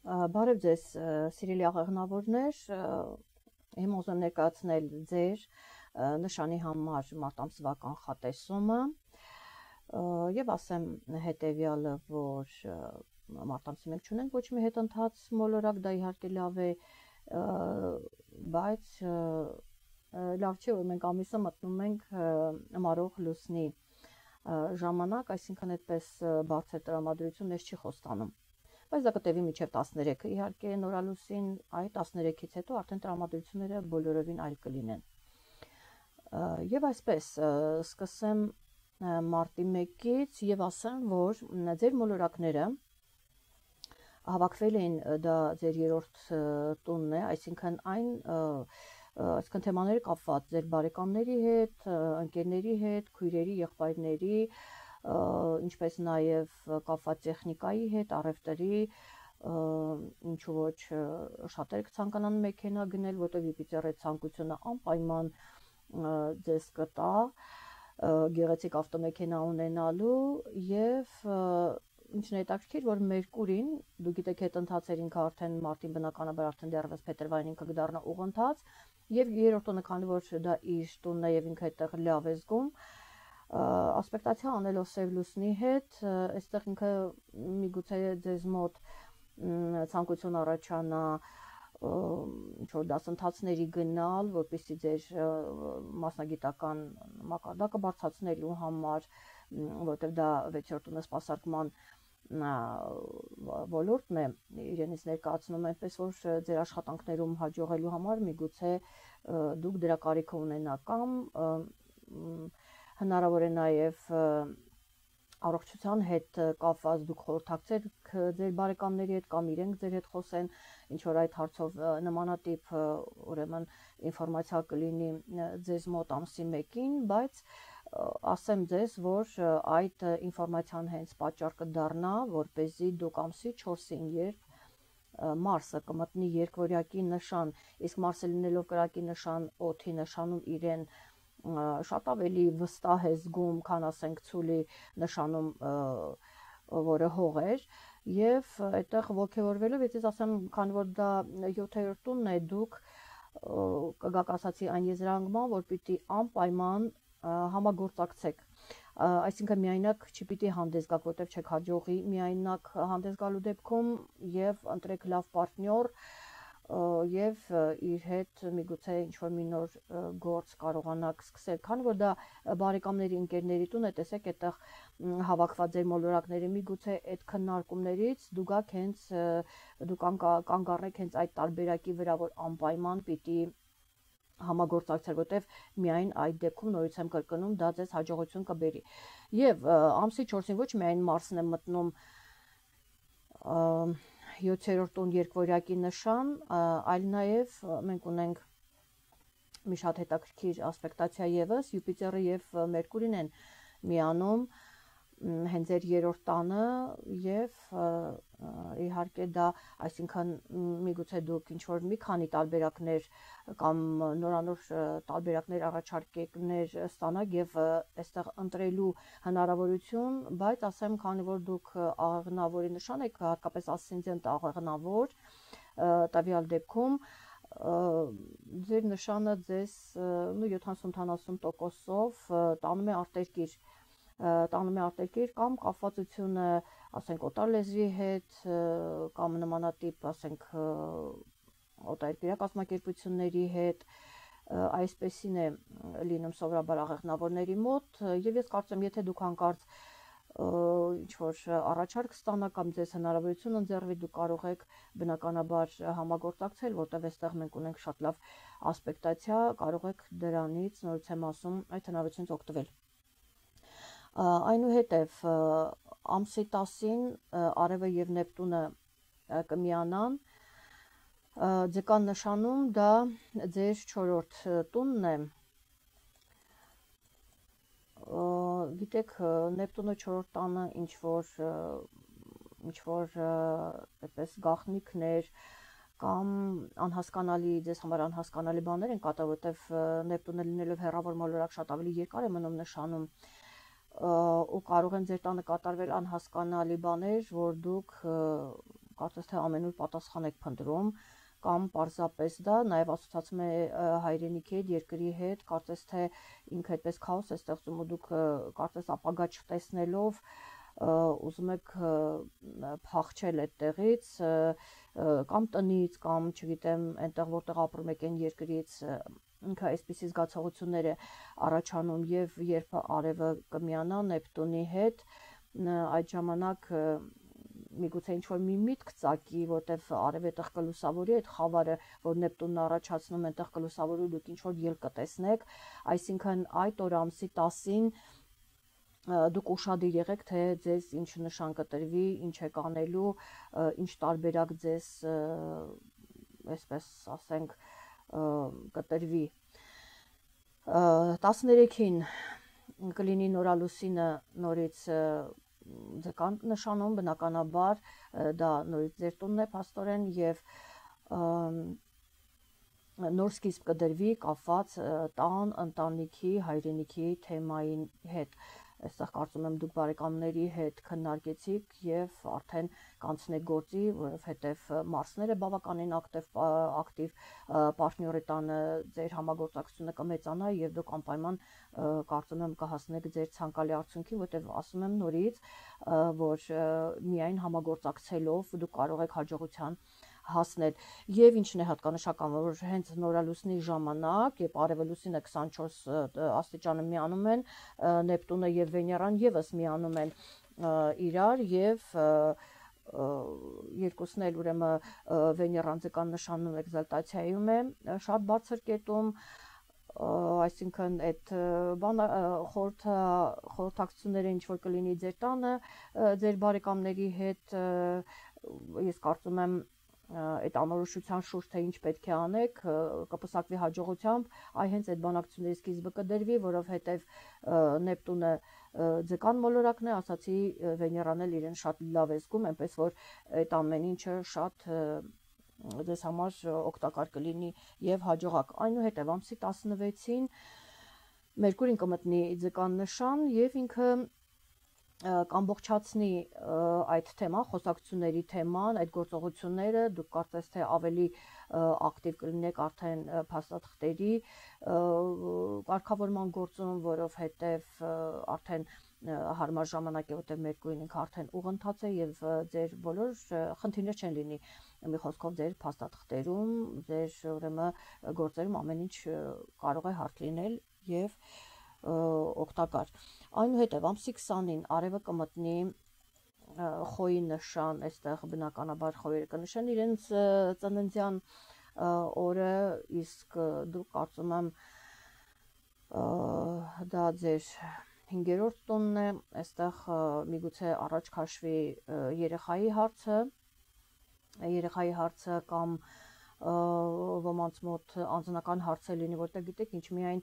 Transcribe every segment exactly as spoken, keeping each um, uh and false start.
Բարև ձեզ, սիրելի աղեղնավորներ, հիմա ուզում եմ ներկայացնել ձեր նշանի համար մարտ ամսվա կանխատեսումը եւ ասեմ հետեւյալը, որ մարտ ամսի մենք չունենք ոչ մի հետընթաց մոլորակ, դա իհարկե լավ է, բայց լավ չէ, որ մենք ամիսը մտնում ենք մարող լուսնի ժամանակ, այսինքն այդպես բարձր տրամադրություն մեզ չի խոստանում։ Բայց դա կտևի մինչև տասներեքը, իհարկե նորալուսին այ տասներեքից հետո արդեն տրամադրությունները բոլորովին այլ կլինեն։ Եվ այսպես սկսեմ մարտի մեկից եւ ասեմ, որ ձեր մոլորակները հավաքվել էին, դա ձեր երրորդ տունն է, այսինքն այն այսինքն թեմաները կապված ձեր բարեկամների հետ, ընկերների հետ, քույրերի, եղբայրների, ինչպես նաև կապված տեխնիկայի հետ, առևտրի, ինչու ոչ շատերը կցանկանան մեքենա գնել, որտեղ Յուպիտերի ցանկությունը անպայման ձեզ կտա գեղեցիկ ավտոմեքենա ունենալու եւ ինչն է հետաքրքիր, որ Մերկուրին, դու գիտեք, հետընթացեր ինքը արդեն մարտին բնականաբար արդեն դեռևս փետրվարին ինքը կդառնա ուղընթաց եւ երրորդ տունը, քանի որ դա իր տունն է եւ ինքը այդտեղ լավ է զգում, ասպեկտացիա անելով սև լուսնի հետ, այստեղ ինքը միգուցե ձեզ մոտ ցանկություն առաջանա ինչ-որ դասընթացների գնալ, որպեսզի ձեր մասնագիտական մակարդակը բարձրացնելու համար, որտեղ դա վեցերորդ տունը սպասարկման ոլորտն է, իրենից ներկայացնում այնպես, որ ձեր աշխատանքներում հաջողելու համար միգուցե դուք դրա կարիքը ունենաք կամ հնարավոր է նաև առողջության հետ կապված դուք խորհրդակցեք ձեր բարեկամների հետ կամ իրենք ձեր հետ խոսեն, ինչ որ այդ հարցով նմանատիպ ուրեմն ինֆորմացիա կլինի ձեզ մոտ ամսի մեկին, բայց ասեմ ձեզ, որ այդ ինֆորմացիան հենց պատճառ կդառնա, որպեսզի դուք ամսի չորսին, երբ Մարսը կմտնի երկվորյակի նշան, իսկ Մարսը լինելով կրակի նշան, օդի նշանում իրեն շատ ավելի վստահ է զգում, քան ասենք ցուլի նշանում, որը հող էր, եւ այդտեղ ողջորվելով, ես ասեմ, քանի որ դա յոթերորդ տունն է, դուք կգաք ասացի այն եզրանկման, որ պիտի անպայման համագործակցեք, այսինքն միայնակ չպիտի հանդես գաք, որտեղ չեք հաջողի միայնակ հանդես գալու դեպքում եւ ընտրեք լավ պարտնյոր եւ իր հետ միգուցե ինչ-որ մի նոր գործ կարողանաք սկսել, քանի որ դա բարեկամների, ընկերների տուն է, տեսեք, այդտեղ հավաքված ձեր մոլորակների միգուցե այդ քննարկումներից դու գաք հենց դուք կանգ առնեք հենց այդ տարբերակի վրա, որ անպայման պիտի համագործակցել, որտեղ միայն այդ դեպքում նորից եմ կրկնում, դա ձեզ հաջողություն կբերի։ Եվ ամսի չորսին ոչ միայն Մարսն է մտնում յոթերորդ տուն երկվորյակի նշան, այլ նաև մենք ունենք մի շատ հետաքրքիր ասպեկտացիա եւս, Յուպիտերը եւ Մերկուրին են միանում հենց ձեր երրորդ տանը եւ իհարկե դա, այսինքն միգուցե դուք ինչ-որ մի քանի տարբերակներ կամ նորանոր տարբերակներ առաջարկներ ստանաք եւ այստեղ ընտրելու հնարավորություն, բայց ասեմ, քանի որ դուք աղեղնավորի նշան եք, հատկապես ասցենդենտ աղեղնավոր, տվյալ դեպքում ձեր նշանը ձեզ յոթանասուն տոկոսով տանում է արտերկիր տանում է արտերկիր կամ կապվածությունը, ասենք, օտար լեզվի հետ կամ նմանատիպ, ասենք, օտարերկրյա կազմակերպությունների հետ, այսպեսին է լինում սովորաբար աղեղնավորների մոտ եւ ես կարծում եմ, եթե դուք հանկարծ ինչ-որ առաջարկ ստանաք կամ ձեզ հնարավորություն ընձեռվի, դուք կարող եք բնականաբար համագործակցել, որտեղ այստեղ մենք ունենք շատ լավ ասպեկտացիա, կարող եք դրանից, նորից եմ ասում, այդ հնարավորությունից օգտվել։ Այնուհետև ամսի տասին Արևը եւ Նեպտունը կմիանան ձկան նշանում, դա ձեր չորրորդ տունն է, գիտեք, Նեպտունը չորրորդ տանը ինչ-որ ինչ-որ այդպես գաղտնիքներ կամ անհասկանալի, ձեզ համար անհասկանալի բաներ են կատարվում, որտեղ Նեպտունը լինելով հեռավոր մոլորակ շատ ավելի երկար է մնում նշանում, ու կարող են ձեր տանը կատարվել անհասկանալի բաներ, որ դուք կարծես թե ամենուր պատասխան եք փնտրում, կամ պարզապես դա նաև ասոցացում է հայրենիքի հետ, երկրի հետ, կարծես թե ինքը այդպես քաոս է ստեղծում ու դուք կարծես ապագա չտեսնելով ուզում եք փախչել այդտեղից կամ տնից, կամ չգիտեմ, այնտեղ որտեղ ապրում եք այն երկրից, ինքը այսպիսի զգացողություններ է առաջանում եւ երբ արևը կմիանա Նեպտունի հետ, այդ ժամանակ միգուցե ինչ-որ մի միտք ծակի, որտեվ արևը այդտեղ կլուսավորի այդ խավարը, որ Նեպտունն առաջացնում, այնտեղ կլուսավորի, դուք ինչ-որ ելք կտեսնեք, այսինքն այդ օր ամսի տասին դուք ուշադիր եղեք, թե ձեզ ինչ նշան կտրվի, ինչ եք անելու, ինչ տարբերակ ձեզ, այսպես ասենք, կտրվի։ տասներեքին կլինի նորալուսինը նորից ձկան նշանում, բնականաբար դա նորից ձեր տունն է փաստորեն եւ նոր սկիզբ կդրվի կապված տան, ընտանիքի, հայրենիքի թեմայի հետ։ Այստեղ կարծում եմ դուք բարեկամների հետ քննարկեցիք եւ արդեն կանցնեք գործի, որովհետեւ Մարսները բավականին ակտիվ ակտիվ պարտների տանը ձեր համագործակցությունը կմեծանա եւ դուք անպայման կարծում եմ կհասնեք ձեր ցանկալի արդյունքին, որտեւ ասում եմ նորից, որ միայն համագործակցելով դուք կարող եք հաջողության հասնել եւ ինչն է հատկանշական, որ հենց նորալուսնի ժամանակ, երբ արևը լուսինը քսանչորս աստիճանը միանում են, Նեպտունը եւ Վեներան եւս միանում են իրար եւ երկուսն էլ ուրեմն Վեներան ձկան նշանում էկզալտացիայում է շատ բարձր կետում, այսինքն այդ բան խորհրդակցությունները ինչ որ կլինի ձեր տանը, ձեր բարեկամների հետ, ես կարծում եմ այդ անորոշության շուրջ թե ինչ պետք է անեք, կպսակվի հաջողությամբ, այ հենց այդ բանակցությունների սկիզբը կդրվի, որովհետև Նեպտունը ձկան մոլորակն է, ասացի Վեներան էլ իրեն շատ լավ է զգում, այնպես որ այդ ամեն ինչը շատ ձեզ համար օգտակար կլինի եւ հաջողակ։ Այնուհետև ամսի տասնվեցին Մերկուրին կմտնի ձկան նշան եւ ինքը կամբողջացնի այդ թեման, խոսակցությունների թեման, այդ գործողությունները, դուք կարծես թե ավելի ակտիվ կլինեք արդեն փաստաթղթերի կարգավորման գործում, որովհետև արդեն հարմար ժամանակ է, որտեղ Մերկուրին ինքը արդեն ուղղընթաց է եւ ձեր բոլոր խնդիրներ չեն լինի, մի խոսքով ձեր փաստաթղթերում, ձեր ուրեմն գործերում ամեն ինչ կարող է հարթ լինել եւ օգտակար։ Այնուհետև ամսի քսանին արևը կմտնի խոյի նշան, այստեղ բնականաբար խոյերը կնշեն իրենց ծննդյան օրը, իսկ դուք կարծում եմ դա ձեր հինգերորդ տունն է, այստեղ միգուցե առաջ քաշվի երեխայի հարցը, երեխայի հարցը կամ ոմանց մոտ անձնական հարց է լինի, որտեղ գիտեք ինչ, միայն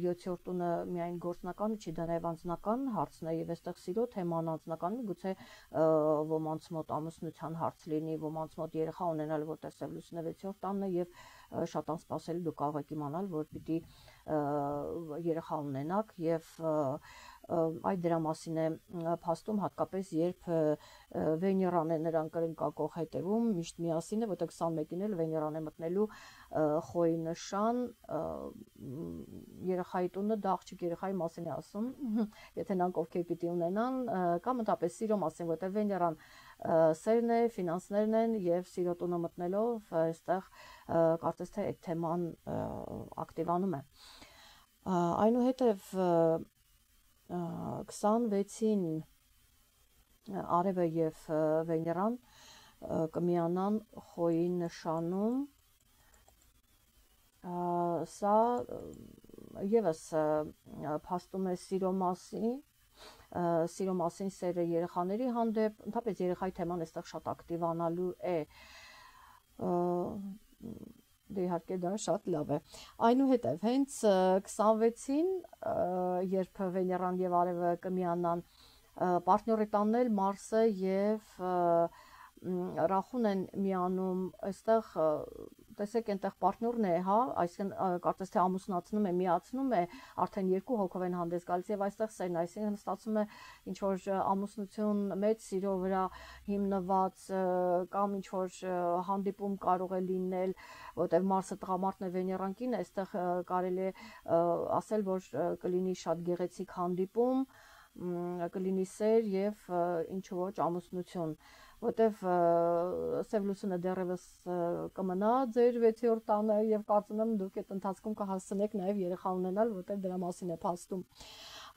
յոթերորդ տունը միայն գործնականը չի, դա նաև անձնական հարցն է եւ այստեղ սիրո թեման անձնական, միգուցե ոմանց մոտ ամուսնության հարց լինի, ոմանց մոտ երեխա ունենալ, որտեղ սև լուսինը վեցերորդ տանն է եւ շատ անսպասելի դուք կարող եք իմանալ, որ պիտի երեխա ունենաք եւ այդ դրա մասին է փաստում, հատկապես երբ Վեներան է նրան կրնկակող հետևում, միշտ միասին է, որտեղ քսանմեկին էլ Վեներան է մտնելու խոյի նշան, երեխայի տունը դա աղջիկ երեխայի մասին է ասում, եթե նրանք ովքեր պիտի ունենան, կամ ընդհանրապես սիրո մասին, որտեղ Վեներան սերն է, ֆինանսներն են եւ սիրո տունը մտնելով այստեղ կարծես թե այդ թեման ակտիվանում է։ Այնուհետև քսանվեցին արևը եւ Վեներան կմիանան խոյի նշանում, սա եւս փաստում է սիրո մասին, սիրո մասին սերը երեխաների հանդեպ, ընդհանրապես երեխայի թեման այստեղ շատ ակտիվանալու է, դե իհարկե դա շատ լավ է։ Այնուհետև հենց քսանվեցին, երբ Վեներան եւ արևը կմիանան, պարտների տանն էլ Մարսը եւ Ռախուն են միանում, այստեղ տեսեք այնտեղ պարտներն է, հա, այսինքն կարծես թե ամուսնացնում է, միացնում է, արդեն երկու հոգով են հանդես գալիս եւ այստեղ սերն, այսինքն ստացվում է ինչ որ ամուսնություն մեծ սիրո վրա հիմնված կամ ինչ որ հանդիպում կարող է լինել, որտեղ Մարսը տղամարդն է, Վեներան կինը, այստեղ կարելի է ասել, որ կլինի շատ գեղեցիկ հանդիպում, կլինի սեր եւ ինչ ոչ ամուսնություն, որտեվ Սև լուսինը դեռևս կմնա ձեր վեցերորդ տանը եւ կարծում եմ դուք այդ ընթացքում կհասցնեք նաեւ երեխա ունենալ, որտեվ դրա մասին է փաստում։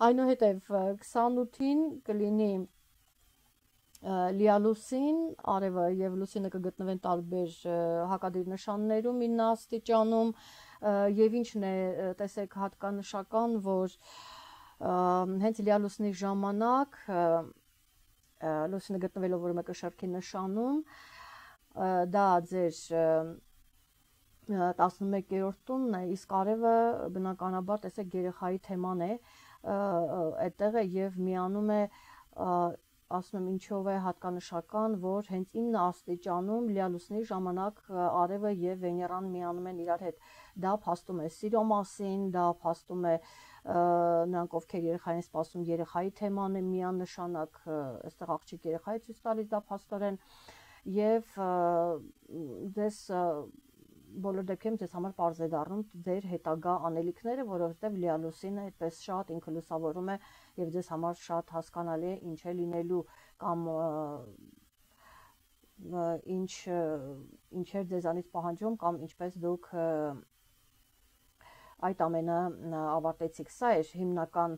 Այնուհետև քսանութին կլինի լիալուսին, արևը եւ լուսինը կգտնվեն տարբեր հակադիր նշաններում ինը աստիճանում եւ ինչն է, տեսեք, հատկանշական, որ հենց լիալուսնի ժամանակ լուսինը գտնվելով որ մեկը շարքի նշանում, դա ձեր տասնմեկերորդ տունն է, իսկ արևը բնականաբար տեսեք երեխայի թեման է, այդտեղ է եւ միանում է, ասում եմ ինչով է հատկանշական, որ հենց ինը աստիճանում լիալուսնի ժամանակ արևը եւ Վեներան միանում են իրար հետ, դա փաստում է սիրո մասին, դա փաստում է նրանք ովքեր երեխային սպասում, երեխայի թեման է միանշանակ, այստեղ աղջիկ երեխայի ցույց տալիս, դա փաստորեն եւ դες բոլոր դեպքերում ձեզ համար պարզ է դառնում ձեր հետագա անելիքները, որովհետեւ լիալուսինը այդպես շատ ինքը լուսավորում է եւ ձեզ համար շատ հասկանալի է ինչ է լինելու կամ ինչ ինչեր ձեզանից պահանջում կամ ինչպես դուք այդ ամենը ավարտեցիք։ Սա էր հիմնական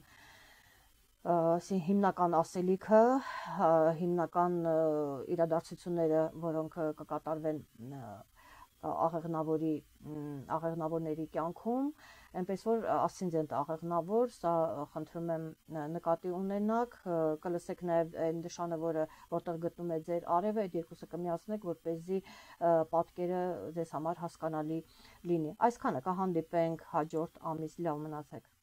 հիմնական ասելիքը, հիմնական իրադարձությունները, որոնք կկատարվեն աղեղնավորի աղեղնավորների կյանքում, այնպես որ ասցենդենտ աղեղնավոր, սա խնդրում եմ նկատի ունենաք, կլսեք նաև այն նշանը, որը որտեղ գտնում է ձեր արևը, այդ երկուսը կմիացնեք, որպեսզի պատկերը ձեզ համար հասկանալի լինի։ Այսքանը, կհանդիպենք հաջորդ ամիս, լավ մնացեք։